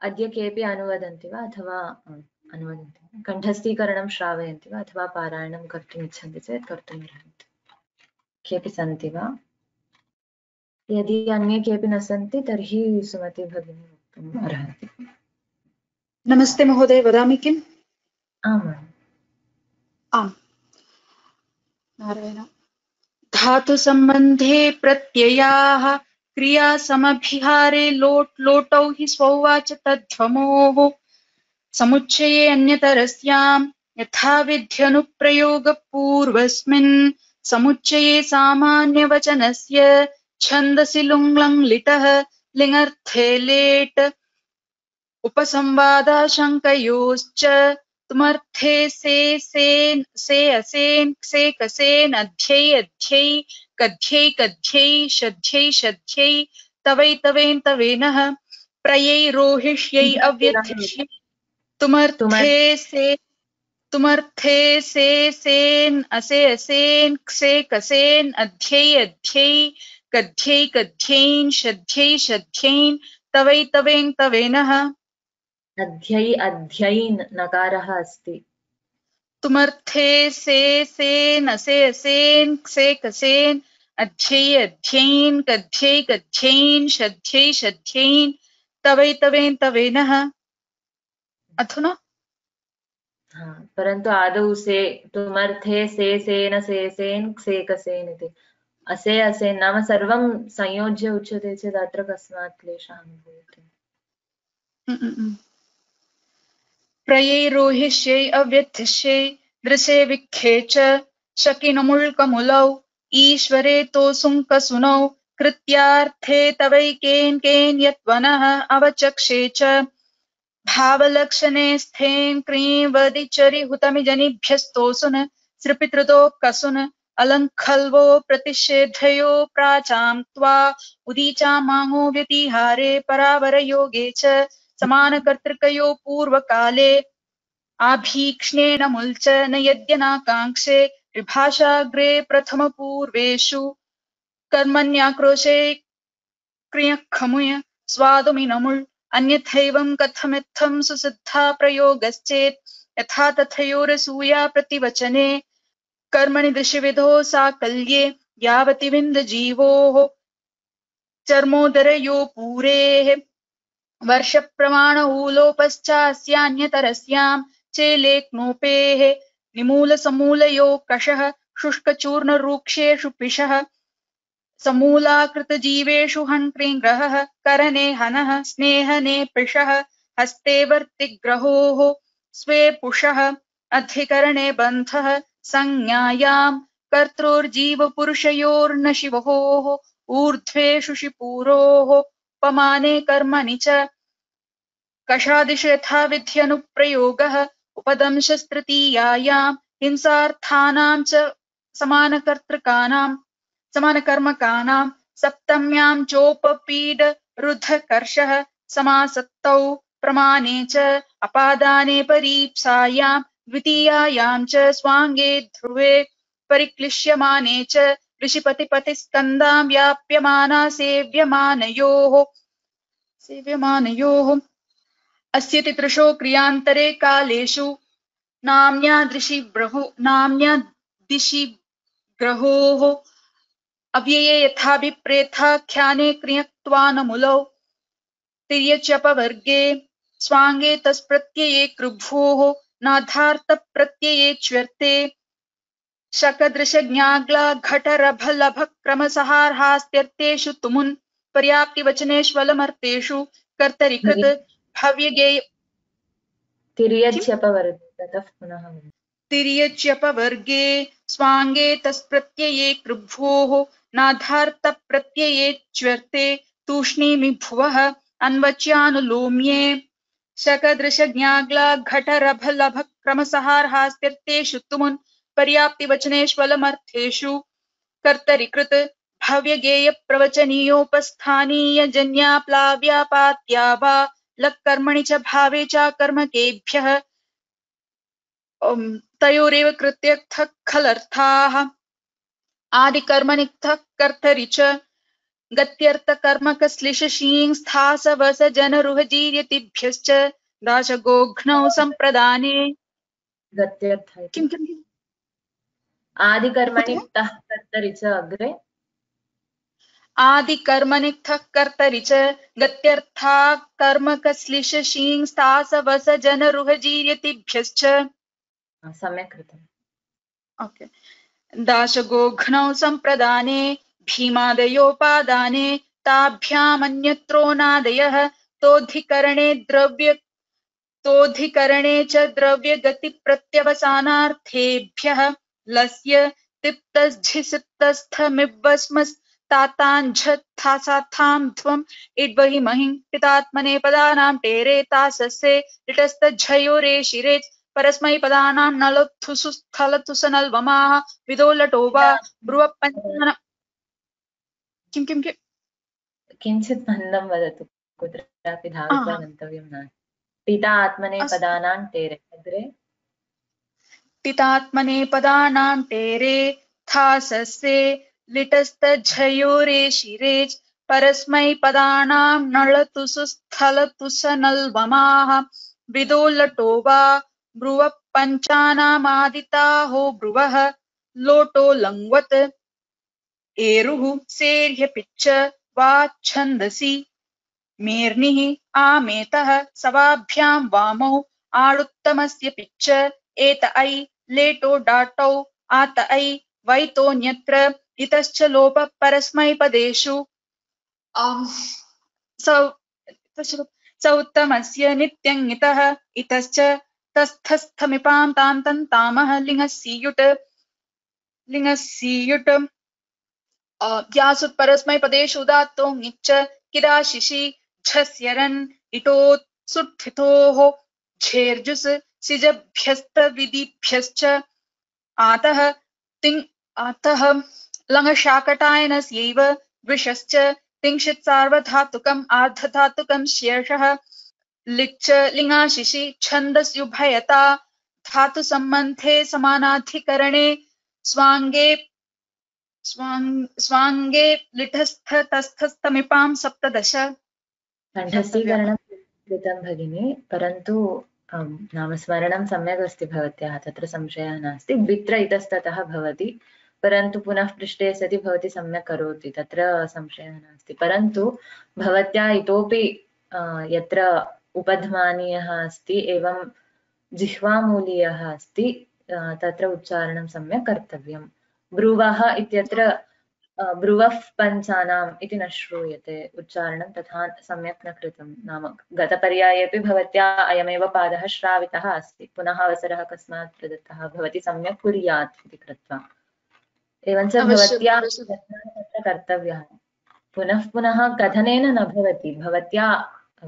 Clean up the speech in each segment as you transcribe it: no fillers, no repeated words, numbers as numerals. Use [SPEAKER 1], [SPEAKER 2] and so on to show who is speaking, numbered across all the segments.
[SPEAKER 1] अद्य केऽपि अनुवदन्ति वा अथवा अनुवदन्ति कण्ठस्थीकरणं श्रावयन्ति वा अथवा पारायणं कर्तुम् इच्छन्ति चेत् कर्तुमर्हन्ति। केऽपि सन्ति वा? यदि अन्ये केऽपि न सन्ति तर्हि सुमति भगिनी वक्तुम् अर्हति।
[SPEAKER 2] नमस्ते महोदय, वदामि किम्?
[SPEAKER 1] आम्
[SPEAKER 2] आम्। नारायण। धातु सम्बन्धे प्रत्ययाः क्रियासमभिहारे लोट् लोटौ हि स्वौवाच तद्ध्वमोः समुच्चये अन्यतरस्यां यथा विध्यनुप्रयोगपूर्वस्मिन् समुच्चये सामान्यवचनस्य छन्दसि लुङ् लिटः लिङर्थे लेट् उपसंवादाशङ्कयोश्च तुमर्थे से असेन् से कसेन् अध्यै अध्यै कध्यै कध्यै शध्यै शध्यै तवै तवेन् तवेनः प्रयै रोहिष्यै अव्यथिष्यै तुमर्थे से सेन् असे असेन् क्षे कसेन् अध्यै अध्यै कध्यै कध्यैन् शध्यै शध्यैन् तवै तवेन् तवेनः।
[SPEAKER 1] अध्यै अध्ययन् नकारः अस्ति।
[SPEAKER 2] तुमर्थे से सेन् असे असेन् क्षे कसेन् अध्यै अध्यैन् कध्यै कध्यैन् शध्यै शध्यैन् तवै तवेन् तवेनः। अधुना
[SPEAKER 1] परन्तु आदौ से तुमर्थे से सेन से सेन् क्षे कसेन् इति असे असेन् नाम सर्वं संयोज्य उच्यते चेत् अत्र कस्मात् क्लेशः अनुभूयते?
[SPEAKER 2] प्रयै रोहिष्यै अव्यथिष्यै दृशे विखे च शकिनमुल्कमुलौ ईश्वरे तोऽसुङ्कसुनौ कृत्यार्थे तवैकेन् केन् यत्वनः अवचक्षे च भावलक्षणे स्थेन् क्रीं वदिचरि हुतमिजनिभ्यस्तोऽसुन सृपितृतो कसुन अलङ्खल्वो प्रतिषेधयो प्राचां त्वा उदीचामाङो व्यतिहारे परावरयोगे च समानकर्तृकयो पूर्वकाले आभीक्ष्णेन मुल्च न यद्यनाकाङ्क्षे विभाषाग्रे प्रथमपूर्वेषु कर्मण्याक्रोशे क्रियखमुय स्वादुमिनमुल् अन्यथैवं कथमित्थं सुसिद्धा प्रयोगश्चेत् यथा तथयोरसूया प्रतिवचने कर्मणि दृशिविधो साकल्ये यावति विन्दजीवोः चर्मोदरयो पूरेः वर्षप्रमाण ऊलोपश्चास्यान्यतरस्यां चेलेक्नोपेः निमूलसमूलयो कषः शुष्कचूर्णरूक्षेषु पिशः समूलाकृतजीवेषु हन्त्रिग्रहः करणे हनः स्नेहने पृषः हस्ते वर्तिग्रहोः स्वे पुषः अधिकरणे बन्धः संज्ञायां कर्तृर्जीवपुरुषयोर्नशिवोः ऊर्ध्वे शुशिपूरोः उपमाने कर्मणि च कषादिषु यथा विध्यनुप्रयोगः उपदंशस्तृतीयायां हिंसार्थानां च समानकर्मकानां सप्तम्यां चोपपीडरुद्धकर्षः समासक्तौ प्रमाणे च अपादाने परीप्सायां द्वितीयायां च स्वाङ्गे ध्रुवे परिक्लिश्यमाने च ऋषिपतिपतिस्कन्दां व्याप्यमाना सेव्यमानयोः अस्य तितृषो क्रियान्तरे कालेषु नाम्न्यादिशि ग्रहोः अव्यये यथाभिप्रेताख्याने क्रियत्वानमुलौ तिर्यच्यपवर्गे स्वाङ्गे तस्प्रत्यये कृभ्वोः नाधार्थप्रत्यये च्वर्ते शकदृशज्ञाग्लाघटरभलभक्रमसहार्हास्त्यर्थेषु तुमुन् पर्याप्तिवचनेष्वलमर्थेषु कर्तरिकृत भव्यगेय तिर्यच्यपवर्गे स्वाङ्गे तस्प्रत्यये कृभ्वोः नाधार्थप्रत्यये च्वर्ते तूष्णीमि भुवः अन्वच्यानुलोम्ये शकदृशज्ञाग्लाघटरभलभक्रमसहार्हास्त्यर्थेषु तुमुन् पर्याप्तिवचनेष्वलमर्थेषु कर्तरिकृत भव्यगेयप्रवचनीयोपस्थानीयजन्याप्लाव्यापात्या वा लक्कर्मणि च भावे चाकर्मकेभ्यः तयोरेव कृत्यर्थः खलर्थाः आदिकर्मणिक्तः कर्तरि च गत्यर्थकर्मकश्लिशशीं स्थासवसजनरुहजीर्यतिभ्यश्च दाशगोघ्नौ सम्प्रदाने
[SPEAKER 1] गत्यर्थ
[SPEAKER 2] किं किं
[SPEAKER 1] आदिकर्मणि तः कर्तरि च अग्रे
[SPEAKER 2] आदिकर्मणिक्थः कर्तरि च गत्यर्था कर्मकश्लिशशीं स्थासवसजनरुहजीर्यतिभ्यश्च
[SPEAKER 1] सम्यक् कृतम्
[SPEAKER 2] ओके दाशगोघ्नौ सम्प्रदाने भीमादयोपादाने ताभ्यामन्यत्रोनादयः तोऽधिकरणे च द्रव्यगतिप्रत्यवसानार्थेभ्यः लस्य तिप्तज्झिसिप्तस्थमिब्बस्मस्ताताञ्झत्थासाथां ध्वम् इड्वहिमहिं पितात्मने पदानां टेरे तासस्ये लिटस्तज्झयोरेशिरेत् परस्मैपदानां नलत्थुसु स्थलतुसनल्वमाः विदोलटो वा ब्रुवपञ्चन किं किं किं
[SPEAKER 1] किञ्चित् मन्दं वदतु कुत्रापि धावित्वा गन्तव्यं नास्ति पिता आत्मने पदानां टेरे अग्रे
[SPEAKER 2] पितात्मने पदानां टेरे थासस्ये लिटस्तज्झयोरेशिरेच् परस्मैपदानां नळतुसु स्थलतुसनल्वमाः विदोलटो वा ब्रुवः पञ्चानामादिताहो ब्रुवः लोटो लङ्वत् एरुः सेर्ह्यपिच्च वा छन्दसि मेर्निः आमेतः सवाभ्यां वामौ आळुत्तमस्य पिच्च एत ऐ लेटो डाटौ आत ऐ वैतोऽन्यत्र इतश्च लोपः परस्मैपदेषु स उत्तमस्य नित्यङ्गितः इतश्च तस्थस्थमिपां तान्तन्तामः लिङ्गस्सीयुट् व्यासुत् परस्मैपदेषु उदात्तो ङिच्च किराशिषि झस्यरन् इटोत्सुट्ठितोः झेर्जुस् सिजभ्यस्तविधिभ्यश्च आतः लङ्शाकटायनस्यैव द्विषश्च तिंशित् सार्वधातुकम् आर्धधातुकं शेषः लिच्च लिङाशिषि छन्दस्युभयता धातुसम्बन्धे समानाधिकरणे स्वाङ्गे लिटस्थतस्थस्थमिपां सप्तदश
[SPEAKER 1] कण्ठस्थीकरणं कृतं भगिनी परन्तु नाम स्मरणं सम्यक् अस्ति भवत्याः तत्र संशयः नास्ति द्वित्र इतस्ततः भवति परन्तु पुनः पृष्टे सति भवती सम्यक् करोति तत्र संशयः नास्ति परन्तु भवत्या इतोपि यत्र उपध्मानीयः अस्ति एवं जिह्वामूलीयः अस्ति तत्र उच्चारणं सम्यक् कर्तव्यम् ब्रुवः इत्यत्र ब्रुवः पञ्चानाम् इति न श्रूयते उच्चारणं तथा सम्यक् न कृतं नाम गतपर्यायेपि भवत्या अयमेव पादः श्रावितः अस्ति पुनः अवसरः कस्मात् प्रदत्तः भवती सम्यक् कुर्यात् इति कृत्वा एवञ्च भवत्या तत्र कर्तव्यः पुनः पुनः कथनेन न भवति भवत्या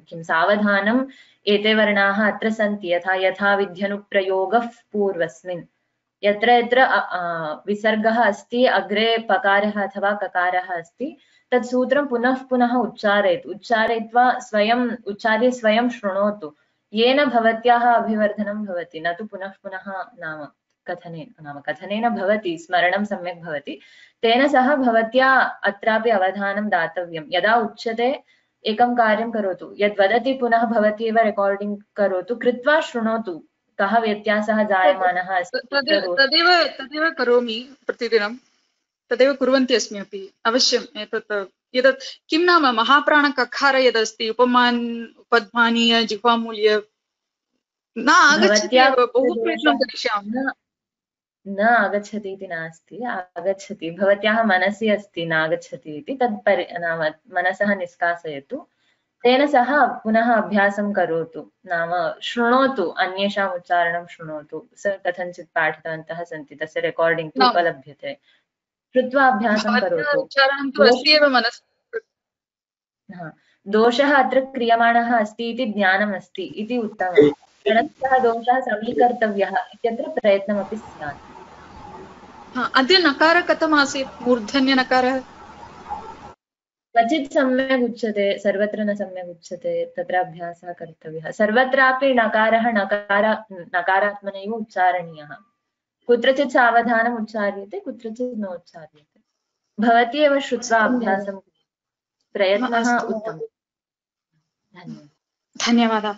[SPEAKER 1] किं सावधानम् एते वर्णाः अत्र सन्ति यथा विध्यनुप्रयोगः पूर्वस्मिन् यत्र यत्र विसर्गः अस्ति अग्रे पकारः अथवा ककारः अस्ति तत् सूत्रं पुनः पुनः उच्चारयतु उच्चारयित्वा उच्चार्य स्वयं शृणोतु येन भवत्याः अभिवर्धनं भवति न तु पुनः पुनः नाम कथनेन भवति स्मरणं सम्यक् भवति तेन सह भवत्या अत्रापि अवधानं दातव्यं यदा उच्यते एकं कार्यं करोतु यद्वदति पुनः भवती एव रेकार्डिङ्ग् करोतु कृत्वा शृणोतु कः व्यत्यासः जायमानः अस्ति
[SPEAKER 2] तदेव करोमि प्रतिदिनं तदेव कुर्वन्ति अस्मि अपि अवश्यम् एतत् किं नाम महाप्राणककार यदस्ति उपध्मानीय जिह्वामूल्य न आगच्छति बहु प्रयत्नं करिष्यामि
[SPEAKER 1] न आगच्छति इति नास्ति आगच्छति भवत्याः मनसि अस्ति नागच्छति इति तत् नाम मनसः निष्कासयतु तेन सह पुनः अभ्यासं करोतु नाम शृणोतु अन्येषाम् उच्चारणं शृणोतु कथञ्चित् पाठितवन्तः सन्ति तस्य रेकार्डिङ्ग् तु उपलभ्यते श्रुत्वा अभ्यासं करोतु दोषः अत्र क्रियमाणः अस्ति इति ज्ञानम् अस्ति इति उत्तमम् परन्तु दोषः समीकर्तव्यः इत्यत्र प्रयत्नमपि स्यात्
[SPEAKER 2] अद्य नकारः कथम् आसीत् मूर्धन्यनकारः
[SPEAKER 1] क्वचित् सम्यक् उच्यते सर्वत्र न सम्यक् उच्यते तत्र अभ्यासः कर्तव्यः सर्वत्रापि नकारः नकारात्मनैव उच्चारणीयः कुत्रचित् सावधानम् उच्चार्यते कुत्रचित् न उच्चार्यते भवती एव श्रुत्वा अभ्यासं प्रयत्नः
[SPEAKER 2] अस्तु
[SPEAKER 1] उत्तमः। धन्यवादः।
[SPEAKER 2] धन्यवादः।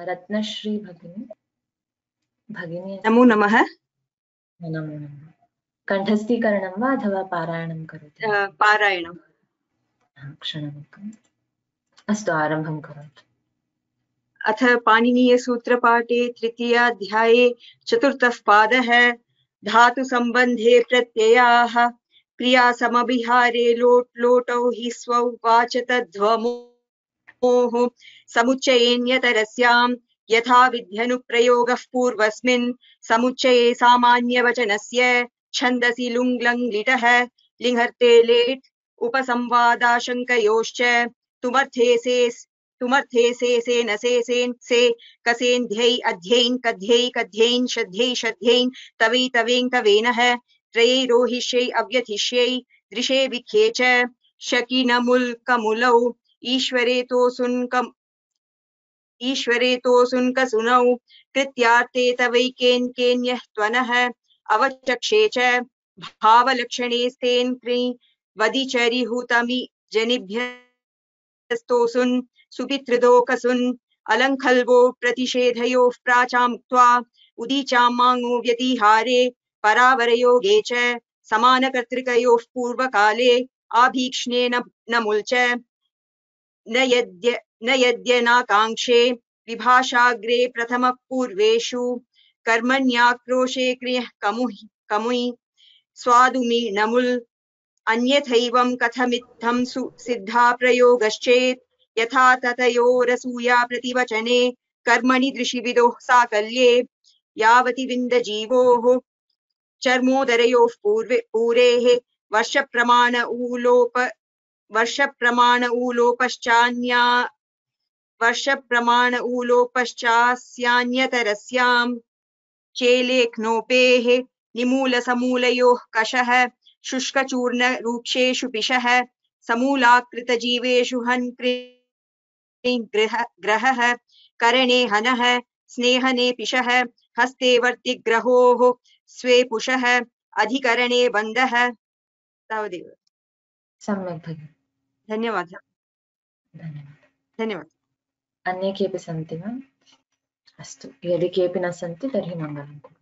[SPEAKER 1] रत्नश्री भगिनी
[SPEAKER 3] नमो नमः।
[SPEAKER 1] नमो नमः। कण्ठस्थीकरणं वा अथवा पारायणं करोति?
[SPEAKER 3] पारायणम्।
[SPEAKER 1] क्षणमेकम्। अस्तु, आरम्भं करोतु।
[SPEAKER 3] अथ पाणिनीयसूत्रपाठे तृतीयाध्याये चतुर्थः पादः। धातुसम्बन्धे प्रत्ययाः। क्रियासमभिहारे लोट् लोटौ हि स्वौ वाच तद्ध्वमोः समुच्चयेन्यतरस्याम् यथा विध्यनुप्रयोगः पूर्वस्मिन् समुच्चये सामान्यवचनस्य छन्दसि लुङ् लङ् लिटः लिङ्हर्ते लेट् उपसंवादाशङ्कयोश्च तुमर्थे से न सेन् से कसेन् ध्यै अध्यैन् कध्यै कध्यैन् शध्यै शध्यैन् तवै तवेन् तवेनः त्रयै रोहिष्यै अव्यथिष्यै दृशे विख्ये च शकिनमुल् कमुलौ ईश्वरेतोऽसुन्कसुनौ कृत्यार्थे तवैकेन् केन्यः त्वनः अवचक्षे च भावलक्षणे स्तेन् कृ वदिचरिहुतमि जनिभ्यस्तोऽसुन् सुपितृदोकसुन् अलङ्खल्वो प्रतिषेधयोः प्राचामुक्त्वा उदीचां माङो व्यतिहारे परावरयोगे च समानकर्तृकयोः पूर्वकाले आभीक्ष्णे न मुल्च न यद्यनाकाङ्क्षे विभाषाग्रे प्रथमः पूर्वेषु कर्मण्याक्रोशे क्रियः कमुयि स्वादुमि नमुल् अन्यथैवं कथमित्थं सिद्धा प्रयोगश्चेत् यथा ततयोरसूया प्रतिवचने कर्मणि दृशिविदोः साकल्ये यावति विन्दजीवोः चर्मोदरयोः पूरेः वर्षप्रमाण ऊलोपश्चास्यान्यतरस्याम् चेलेख्नोपेः निमूलसमूलयोः कषः शुष्कचूर्णरूक्षेषु पिशः समूलाकृतजीवेषु हन् ग्रहः करणे हनः स्नेहने पिशः हस्ते वर्तिग्रहोः स्वे पुषः अधिकरणे बन्धः। तावदेव।
[SPEAKER 1] सम्यक् भगिनि।
[SPEAKER 3] धन्यवादः। धन्यवादः।
[SPEAKER 1] अन्ये केऽपि सन्ति वा? अस्तु, यदि केऽपि न सन्ति तर्हि मङ्गलं कुर्मः।